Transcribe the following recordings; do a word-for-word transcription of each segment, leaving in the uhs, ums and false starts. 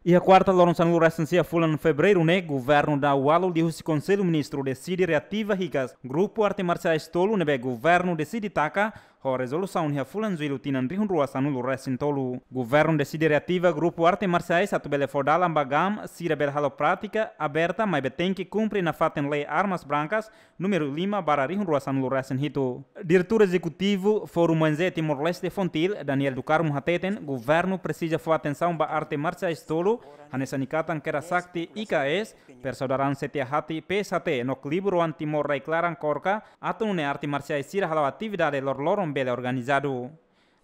Iha kuarta loron sanulu resin sia fulan Fevereiru ne'e, Governu Dau-Ualu liuhusi Konsellu Ministru deside reativa hikas grupu arte marsiais tolu ne'ebé Governu deside taka ho rezolusaun iha fulan Jullu tinan rihun rua sanulu resin tolu. Governu deside reativa grupu arte marsiais atu bele fó dalan ba GAM sira bele halo prátika aberta maibé tenke kumpre nafatin lei armas brancas númeru lima barra rihun rua sanulu resin hitu. Diretór Ezekutivu Fórum O N G Timor-Leste, FONTIL, Daniel do Carmo hateten, Governu presiza fó atensaun ba arte marsiais tolu, hanesan Ikatan Kera Sakti, I K S, Persaudaraan Setia Hati, P S H T, no Klubu Roan Timor Rai Klaran, KORKA, atu nune'e arte marsiais sira hala'o atividade loroloron bele organizadu.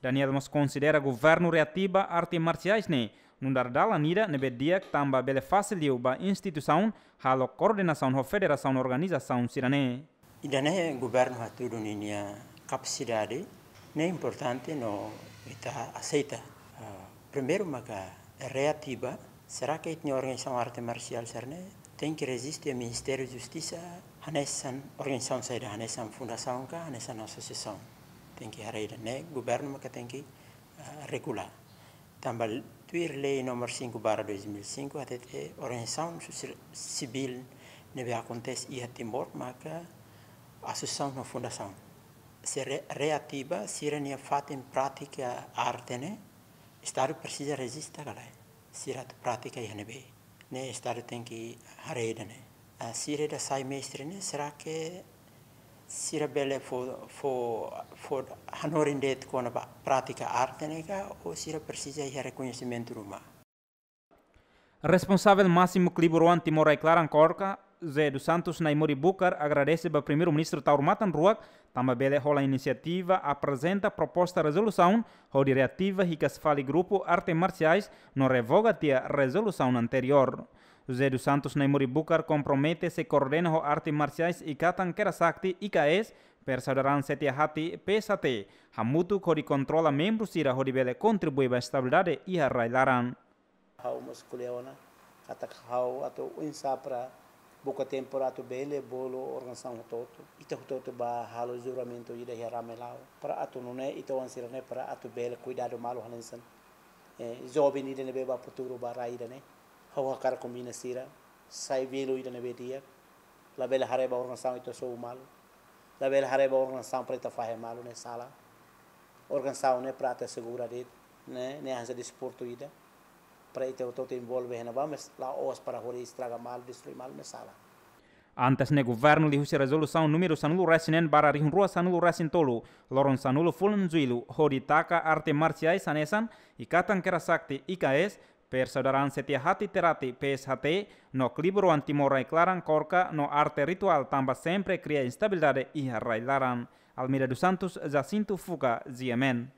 Daniel mós konsidera Governu reativa arte marsiais ne'e nu'udar dalan ida ne'ebé di'ak tanba bele fasil liu ba instituisaun halo koordenasaun ho federasaun organizasaun sira-ne'e. Ida-ne'e Governu hatudu ninia kapasidade, ne'e importante no ita aseita. Ah, primeiru maka reativa, será que ita-nia organizasaun arte marsiál sira-ne'e tenke rejista iha Ministériu Justisa hanesan organizasaun saida, hanesan fundasaun ka hanesan asosiasaun? Tenke haree ida-ne'e, Governu maka tenke, ah, regula. Tanba tuir lei númeru cinco barra dois mil e cinco, hatete organizasaun sosiál sivíl ne'ebé akontese iha Timor maka asosiasaun no fundasaun. Se re-, reativa, sira-nia fatin prátika arte ne'e, Estadu presiza rejista ka lae. Sira atu prátika iha ne'ebé. Ne'e Estadu tenke haree ida-ne'e. Ah, sira ida sai mestre ne'e, será que sira bele fó, fó, fó hanorin de'it kona-ba prátika arte ne'e ka, ou sira presiza iha rekoñesimentu ruma? Responsavel másimu Klubu Roan Timor Rai Klaran, KORKA, José dos Santos Naimori Bucar, agradese ba Primeiru-Ministru Taur Matan Ruak tanba bele hola inisiativa aprezenta proposta rezolusaun hodi reativa hikas fali grupu arte marsiais no revoga tiha rezolusaun anteriór. José dos Santos Naimori Bucar kompromete sei koordena ho arte marsiais Ikatan Kera Sakti, I K S, Persaudaraan Setia Hati, P S H T, hamutuk hodi kontrola membru sira hodi bele kontribui ba estabilidade iha rai-laran. Ha'u mós ko'alia ona katak ha'u atu oinsá para buka tempu para atu bele bolu organizasaun hotu-hotu. Ita hotu-hotu bá halo juramentu ida iha Ramelau. Para atu nune'e ita-nia oan sira-ne'e para atu bele kuidadu malu hanesan, eh, joven ida ne'ebé bá futuru ba rai ida-ne'e. Ha'u hakarak kombina sira, sai velu ida ne'ebé di'ak. Labele haree ba organizasaun ita sobu malu. Labele haree ba organizasaun para ita fahe malu, ne'e sala. Organizasaun ne'e para atu asegura de'it, ne'e, ne'e hanesan desportu ida. Para ita hotu-hotu envolve iha ne'ebá, mas la'ós para hodi estraga malu, destrui malu, ne'e sala. Antes ne'e Governu liuhusi rezolusaun númeru sanulu resin neen barra rihun rua sanulu resin tolu, loron sanulu fulan Jullu, hodi taka arte marsiais hanesan Ikatan Kera Sakti, I K S, Persaudaraan Setia Hati Terati, P S H T, no Klubu Roan Timor Rai Klaran, KORKA, no arte rituál tanba sempre kria instabilidade iha rai-laran. Almeida dos Santos, Jacinto Fuca, G M N.